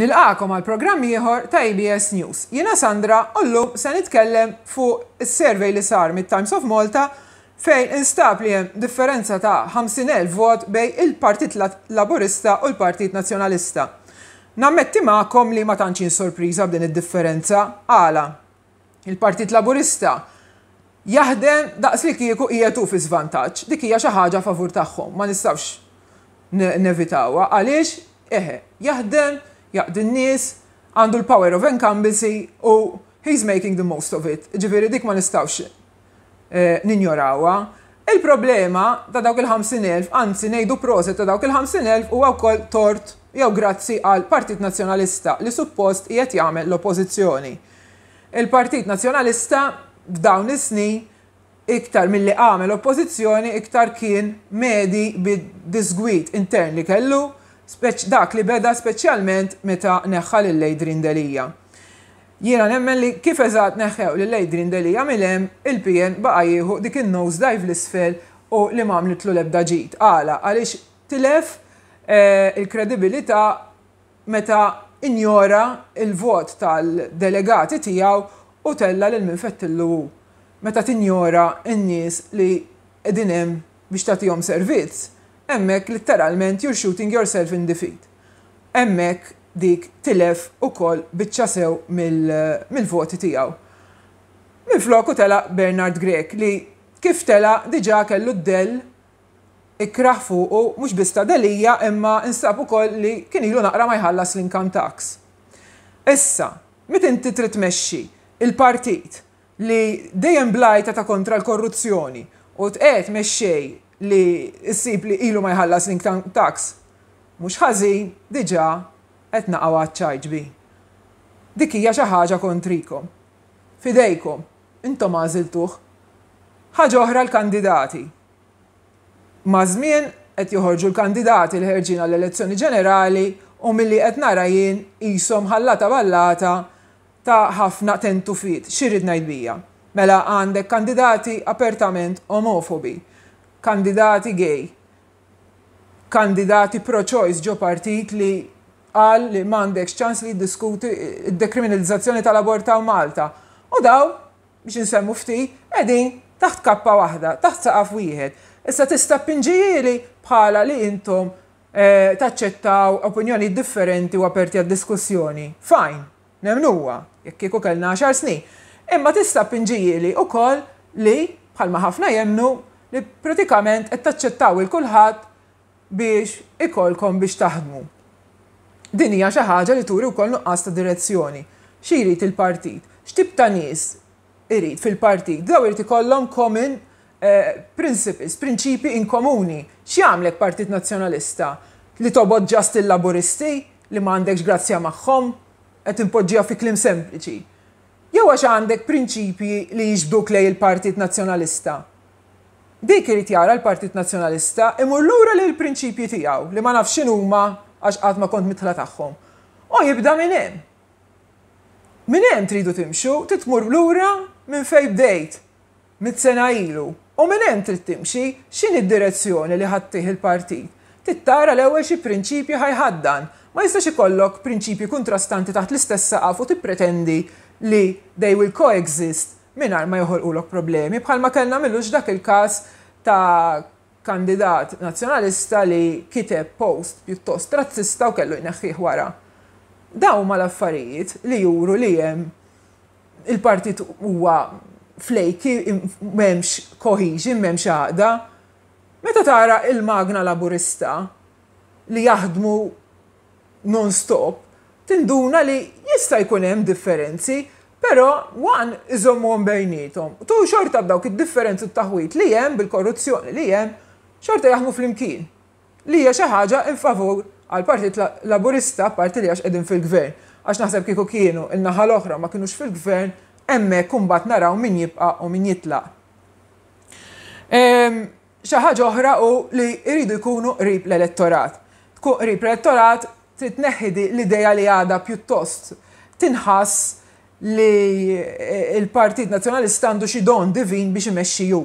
Nilqagħkom għal programm ieħor ta' ABS News. Jiena Sandra u llum se nitkellem fuq is-survey li sar mit-Times of Malta fejn instab li hemm differenza ta' 50,000 vot bejn il-Partit Laburista u l-Partit Nazzjonalista. Nammetti magħkom li ma tantx jien sorpriża b'din id-differenza. Għala? Il-Partit Laburista jaħdem daqs li kieku qiegħed hu fi żvantaġġ. Dik hija xi ħaġa favur tagħhom, ma nistgħux nevitawha. Għaliex? Eħe, jaħdem, jaqdi n-nies, għandu l-power of incumbency u he's making the most of it. Ġifieri dik ma nistgħux ninjorawha. Il-problema ta' dawk il-50,000, anzi ngħidu proset ta' dawk il-50,000 huwa wkoll tort jew grazzi għal Partit Nazzjonalista li suppost qiegħed jagħmel l-oppożizzjoni. Il-Partit Nazzjonalista f'dawn is-snin iktar milli għamel oppożizzjoni iktar kien medi bid-disgwid intern li kellu, dak li beda speċjalment meta neħħa lil Adrian Delia. Jiena nemmen li kif eżatt neħħew lil Adrian Delia mil hemm, il-PN baqa' jieħu dik in-nose dive 'l isfel u li m'għamlitlu l-ebda ġid. Għala? Għaliex tilef il-kredibilità meta injora l-vot tal-delegati tiegħu u tella' lil min fettillu hu. Meta tinjora n-nies li qegħdin hemm biex tagħtihom servizz, hemmhekk litteralment you're shooting yourself in the feet. Hemmhekk dik tilef ukoll biċċa sew mill-voti tiegħu. Minfloku tela' Bernard Grech li kif tela' diġà kellu d-dell ikrah fuqu mhux biss ta' Delia imma nstab ukoll li kien ilu naqra ma jħallas l-income tax. Issa, meta inti trid tmexxi il-partit li dejjem bl-għajta ta' kontra l-korruzzjoni u tqiegħed mexxej li ssib li ilu ma jħallas l-income tax, mhux ħażin diġà qed naqgħu għaċ-ċajt bi. Dik hija xi ħaġa kontrikom. F'idejkom. Intom għażiltuh. Ħaġa oħra l-kandidati. Maż-żmien qed joħorġu l-kandidati li ħerġin għall-elezzjoni ġenerali u milli qed nara jien qishom ħallata ballata ta' ħafna tentufiet. Xi rrid ngħid bija? Mela għandek kandidati apertament omofobi, kandidati gay, kandidati pro-choice ġo partit li qal li m'għandekx ċans li jiddiskuti d-dekriminalizzazzjoni tal-abort hawn Malta. U dawn, biex insemmu ftit, qegħdin taħt kappa waħda, taħt saqaf wieħed. Issa tista' tpinġihieli bħala li intom taċċettaw opinjonijiet differenti u aperti għad-diskussjoni. Fine, nemmnuha, jekk kieku kellna għaxar snin. Imma tista' tpinġihieli wkoll li, bħalma ħafna jemmnu, li pratikament qed taċċettaw 'il kulħadd biex ikollkom biex taħdmu. Din hija xi ħaġa li turi wkoll nuqqas ta' direzzjoni. Xi jrid il-partit? X'tip ta' nies irid fil-partit? Dawn irid ikollhom common principles, prinċipji in komuni. X'jagħmlek Partit Nazzjonalista? Li tobgħod just il-Laburisti li ma għandekx grazzja magħhom? Qed inpoġġiha fi kliem sempliċi. Jew għax għandek prinċipji li jiġbduk lejn il-Partit Nazzjonalista? Dik irid jara l-Partit Nazzjonalista, imur lura lejn il-prinċipji tiegħu, li ma nafx x'inhuma għax qatt ma kont midħla tagħhom. U jibda minn hemm. Minn hemm tridu timxu, trid tmur lura minn fejn bdejt, sena ilu. U minn hemm trid timxi, x'inhi d-direzzjoni li ħa ttih il-partit. Trid tara l-ewwel xi prinċipji ħa jħaddan. Ma jistax ikollok prinċipji kuntrastanti taħt l-istess saqaf u tippretendi li they will coexist mingħajr ma joħolqulok problemi, bħalma kellna m'ilux dak il-każ ta' kandidat Nazzjonalista li kiteb post pjuttost razzista u kellu jneħħih wara. Dawn huma l-affarijiet li juru li hemm il-partit huwa flaky, m'hemmx cohesion, m'hemmx għaqda. Meta tara il-magna Laburista li jaħdmu non-stop, tinduna li jista' jkun hemm differenzi, però one iżommuhom bejniethom. Two xorta b'dawk id-differenzi u t-taħwid li hemm bil-korruzzjoni li hemm, xorta jaħdmu flimkien. Li hija xi ħaġa in favur għall-Partit Laburista apparti li għax qegħdin fil-gvern. Għax naħseb kieku kienu n-naħa l-oħra ma kinux fil-gvern, hemmhekk imbagħad naraw min jibqa' u min jitlaq. Xi ħaġa oħra hu li jridu jkunu qrib l-elettorat. Tkun qrib l-elettorat trid tneħħi l-idea li għadha pjuttost tinħass li l-Partit Nazzjonalista għandu xi don divin biex imexxi hu.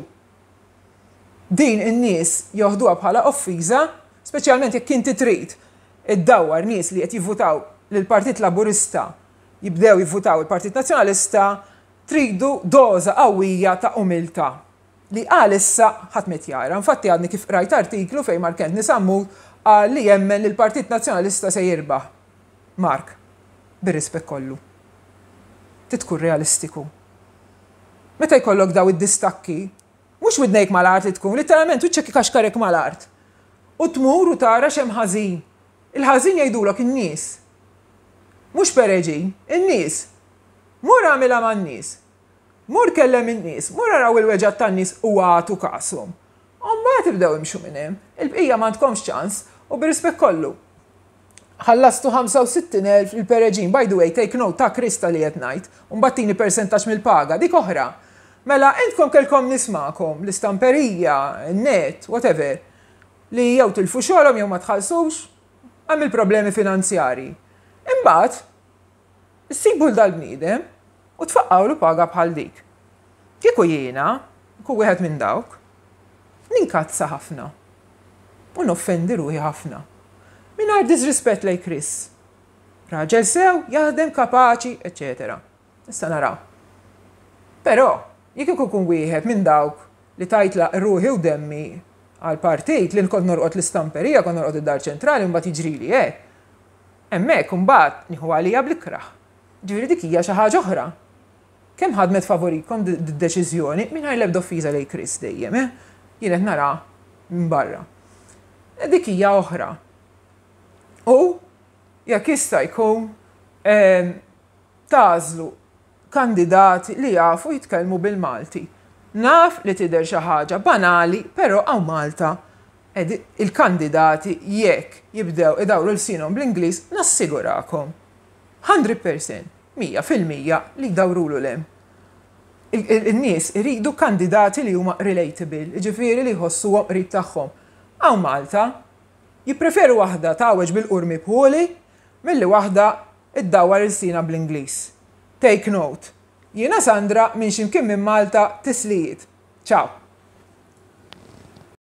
Din in-nies joħduha bħala offiża, speċjalment jekk inti trid iddawwar nies li qed jivvutaw. li l-Partit Laburista jibdew jivvutaw il-Partit Nazzjonalista tridu doża qawwija ta' umiltà li għalissa ħadd m'qed jara. Infatti għadni kif qrajt artiklu fejn Mark Anthony Sammut qal li jemmen li l-Partit Nazzjonalista se jirbaħ. Mark, bir-rispett kollu. Trid tkun realistiku. Meta jkollok daw id-distakki, mhux widnejk mal-art li tkun, litteralment wiċċek ikaxkarek mal-art. U tmur u tara x'hemm ħażin. Il-ħażin jgħidulok in-nies. Mhux Pereġin, in-nies. Mur agħmilha man-nies. Mur kellem in-nies, mur araw il-weġgħat tan-nies u agħtu kashom. U mbagħad ibdew imxu minn hemm. Il-bqija m'għandkomx ċans u bir-rispett kollu. Ħallastu 65,000 lil Pereġin, by the way, take note ta' Chris ta' li qed ngħid, u mbagħad tini persentaġġ mill-paga, dik oħra. Mela intkom kellkom nies magħkom, l-istamperija, in-net, whatever, li jew tilfu xogħolhom jew ma tħallsux, hemm il-problemi finanzjarji. Imbagħad Issibu 'l dal-bniedem u tfaqqgħulu paga bħal dik. Kieku jiena nkun wieħed minn dawk, ninkazza ħafna u noffendi ruħi ħafna. Mingħajr diżrispett lejn Chris. Raġel sew, jaħdem, kapaċi, eċċetera. Issa naraw. Però, jekk kieku nkun wieħed minn dawk li tajt ruħi u demmi għall-partit, li kont norqod l-istamperija, kont norqod id-Dar Ċentrali u mbagħad jiġrili hekk, Hemmhekk imbagħad nieħu għalija bl-ikrah. Ġifieri dik hija xi ħaġa oħra. Kemm ħadmet favorikom d-deċiżjoni mingħajr l-ebda offiża lejn Chris dejjem, eh? Jien qed nara minn barra. Dik hija oħra. U jekk jista' jkun tagħżlu kandidati li jafu jitkellmu bil-Malti. Naf li tidher xi ħaġa banali, però hawn Malta il-kandidati jekk jibdew idawru lsienhom bl-Ingliż nassigurakom 100%, 100%, li jdawrulu 'l hemm. In-nies iridu kandidati li huma relatable, jiġifieri li jħossuhom qrib tagħhom. Hawn Malta jippreferu waħda tgħawweġ bil-qurmi bħuli milli waħda iddawwar ilsienha bl-Ingliż. Take note. Jiena Sandra minn xi mkien minn Malta tislijiet. Ciao.